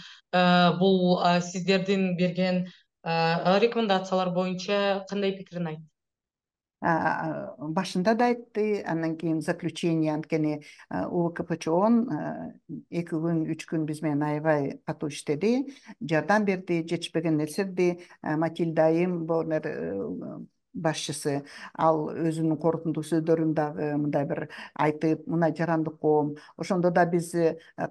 бул сиздердин берген рекомендациялар боюнча кандай пикирин айтты? Башында да айтты, андан кийин заключение, анткени у вэ ка пэ чэ он эки күн, үч күн биз менен аябай катуу иштеди, жардам берди, жетишпеген нерселерди. Матильда айым, башчысы. Ал өзүнүн корутундуу сөздөрүн дагы мындай бир айтып, мына жарандык коом. Ошондо да биз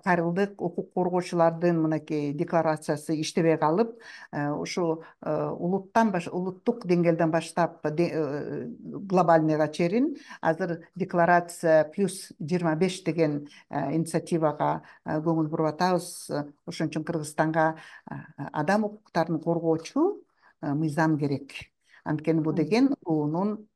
кайрылдык, укук коргоочулардын мынакей декларациясы иштебей калып, ушу улуттан баш улуттук деңгээлден баштап глобальныйга чейин азыр декларация плюс жыйырма беш деген инициативага көңүл буруп атабыз. Ошон үчүн Кыргызстанга адам укуктарын коргоочу мыйзам керек. Анткени бул деген уунун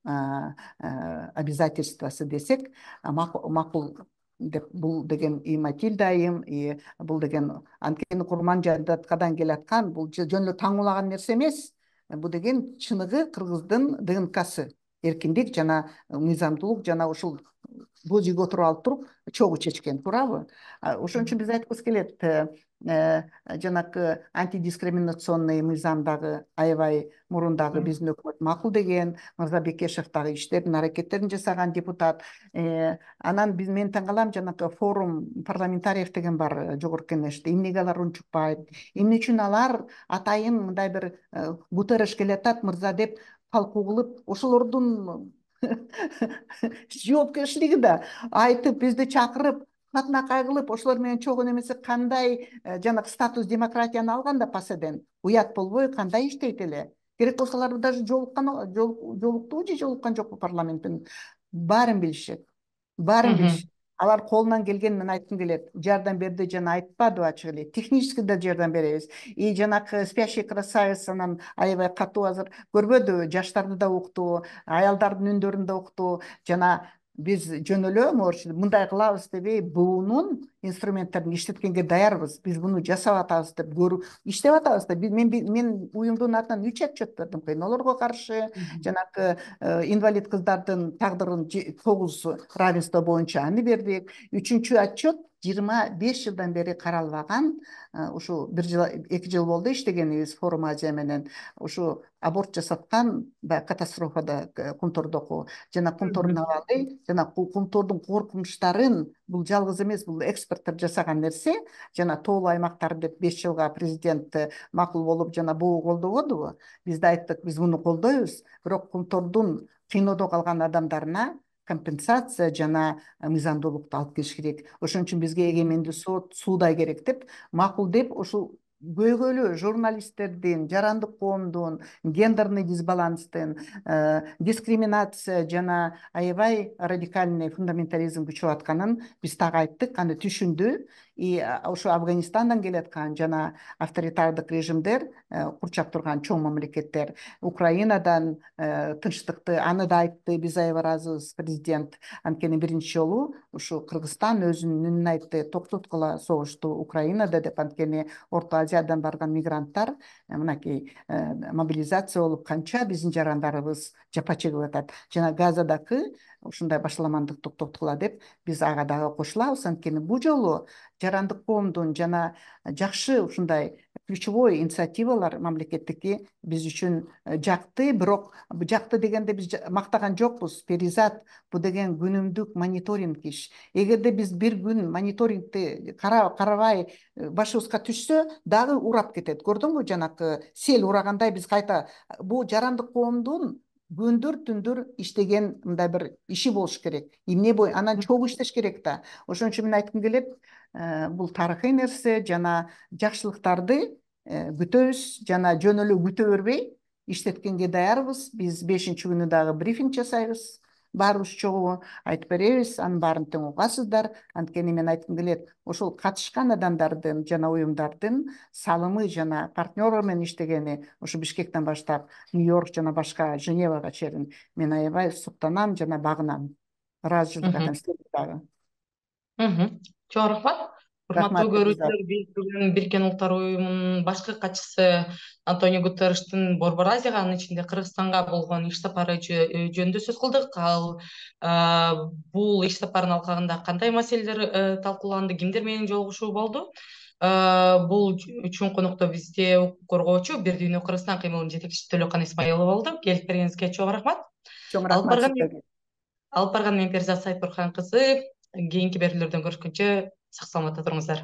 обязательствосы десек макул деп, бул деген и Матильда айым, и бул деген анткени курман жадаткадан келаткан, бул жөн эле таңуулаган нерсе эмес. Бул деген чыныгы кыргыздын ДНКсы, эркиндик жана мыйзамдуулук жана ушул бул жерге отуруп алып туруп чогуу чечкен, туурабы? Ошон үчүн биз айткыбыз келет, жанакы антидискриминационный мыйзам дагы аябай мурун дагы биздин өкмөт макул деген, Мырза Бекешев дагы иштерин, аракеттерин жасаган депутат. Анан биз мен таң калам, жанакы форум парламентариев деген бар жогорку кеңеште. Эмнеге алар унчукпайт? Эмне үчүн алар атайын мындай бир Гутерреш келатат мырза деп талкуу кылып, ошолордун жоопкерчилиги да айтып, бизди чакырып, катнакай кылып, ошолор менен чогуу немесе кандай жанагы статус демократияны алганда паседен уят болбой кандай иштейт эле. Керек болсо алар даже жолуккан жолуктубу же жолуккан жокпу парламенттин, баарын билишет. Баарын билишет. Алар колунан келгенин мен айткым келет. Жардам берди жана айтпадыбы ачык эле. Технически да жардам беребиз. И жанакы спящий красавец анан аябай катуу азыр көрбөдүбү, жаштарды да укту, аялдардын үндөрүн да укту. Жана биз жөн эле мындай кылабыз дебей, буунун инструменттерин иштеткенге даярбыз. Биз буну жасап атабыз деп көрүп иштеп атабыз да. Мен мен уюмдун атынан үч отчет бердим, кыйноолорго каршы, жанакы инвалид кыздардын тагдырын тогуз равенство боюнча аны бердик. Үчүнчү отчет жыйырма беш жылдан бери каралбаган, ушу бир жыл эки жыл болду иштегенибиз Форум Азия менен. Ушу аборт жасаткан катастрофада Кумтордоку жана Кумтордун абалы жана Кумтордун коркунучтарын бул жалгыз эмес, бул эксперттер жасаган нерсе. Жана тоолуу аймактар деп беш жылга президент макул болуп жана бул колдогодубу? Биз да айттык, биз муну колдойбуз, бирок Кумтордун кыйноодо калган адамдарына компенсация жана мыйзамдуулукту алып келиш керек. Ошон үчүн бизге эгемендүү сот, суудай керек деп макул деп, ушул көйгөйлүү журналисттердин, жарандык коомдун, гендерный дисбаланстын, дискриминация жана аябай радикальный фундаментализм күчөп атканын биз так айттык, аны түшүндү. И ошо Афганистандан келаткан жана авторитардык режимдер курчап турган чоң мамлекеттер, Украинадан тынчтыкты, аны да айтты, биз аябай ыраазыбыз президент. Анткени биринчи жолу ушу Кыргызстан өзүнүн үнүн айтты, токтоткула согушту Украинада деп. Анткени Орто Азиядан барган мигранттар мынакей мобилизация болуп канча биздин жарандарыбыз жапа чегип атат. Жана Газадагы ушундай башаламандык токтоткула деп биз ага дагы кошулабыз. Анткени бул жолу жарандык коомдун жана жакшы ушундай ключевой инициативалар мамлекеттики биз үчүн жакты. Бирок жакты дегенде биз мактаган жокпуз. Перизат бул деген күнүмдүк мониторинг иш. Эгерде биз бир күн мониторингти карабай башыбызга түшсө, дагы урап кетет. Көрдүңбү, жанакы сел урагандай биз кайта бул жарандык коомдун күндөр түндөр иштеген мындай бир иши болуш керек. Эмне бой анан чогуу иштеш керек да. Ошон үчүн мен айткым келет, бул тарыхый нерсе жана жакшылыктарды күтөбүз жана жөн эле күтө бербей иштеткенге даярбыз. Биз бешинчи күнү дагы брифинг жасайбыз. Баарыбыз чогуу айтып беребиз, анын баарын тең угасыздар. Анткени мен айткым келет, ошол катышкан адамдардын жана уюмдардын салымы жана партнер менен иштегени ушу Бишкектен баштап Нью-Йорк жана башка Женевага чейин мен аябай суктанам жана багынам. Ыраазычылык айтам сизге дагы. Чоң рахмат. Урматтуу көрүүчүлөр, биз бүгүн Бириккен Улуттар Уюмунун башкы катчысы Антонио Гутерриштин Борбор Азияга, анын ичинде Кыргызстанга болгон иш сапары жөнүндө сөз кылдык. Ал бул иш сапардын алкагында кандай маселелер талкууланды, кимдер менен жолугушуу болду? Бул үчүн конокто бизде укук коргоочу Бир Дүйнө Кыргызстан кыймылынын жетекчиси Төлөкан Исмаилова болду. Келип бергениңизге чоң рахмат. Чоң рахмат сизге. Алып барган мен Перизат Сайпурхан кызы. Кийинки берүүлөрдөн көрүшкөнчө сак саламатта туруңуздар.